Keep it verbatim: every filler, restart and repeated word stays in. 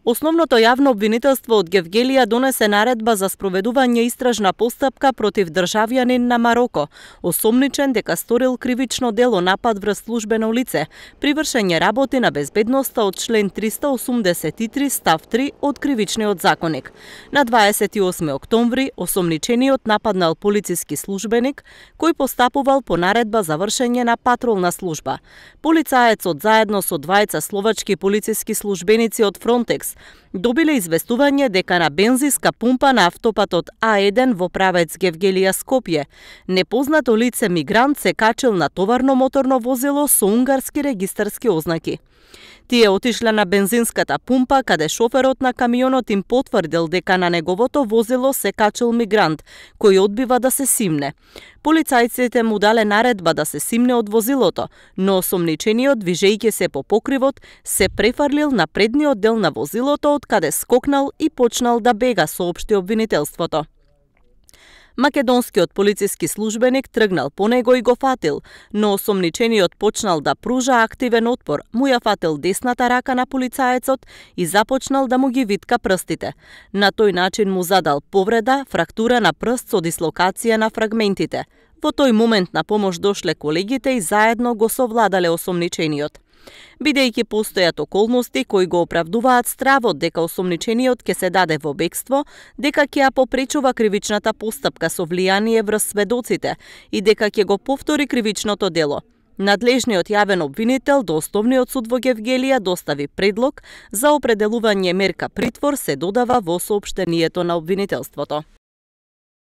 Основното јавно обвинителство од Гевгелија донесе наредба за спроведување истражна постапка против државјанин на Мароко, осомничен дека сторил кривично дело напад врз службено лице, при вршење работи на безбедноста од член триста осумдесет и три став три од Кривичниот законник. На дваесет и осми октомври осомничениот нападнал полициски службеник кој постапувал по наредба за вршење на патролна служба. Полицаецот заедно со двајца словачки полициски службеници од Фронтекс добиле известување дека на бензинска пумпа на автопатот А еден во правец Гевгелија Скопје непознато лице мигрант се качил на товарно моторно возило со унгарски регистарски ознаки. Тие отишле на бензинската пумпа, каде шоферот на камионот им потврдил дека на неговото возило се качил мигрант, кој одбива да се симне. Полицајците му дале наредба да се симне од возилото, но осомничениот, движејќи се по покривот, се префрлил на предниот дел на возилото, од каде скокнал и почнал да бега, соопшти обвинителството. Македонскиот полициски службеник тргнал по него и го фатил, но осомничениот почнал да пружа активен отпор, му ја фатил десната рака на полицаецот и започнал да му ги витка прстите. На тој начин му задал повреда, фрактура на прст со дислокација на фрагментите. Во тој момент на помош дошле колегите и заедно го совладале осомничениот. Бидејќи постојат околности кои го оправдуваат стравот дека осомничениот ќе се даде во бегство, дека ќе ја попречува кривичната постапка со влијание врз сведоците и дека ќе го повтори кривичното дело. Надлежниот јавен обвинител до Основниот суд во Гевгелија достави предлог за определување мерка притвор, се додава во соопштението на обвинителството.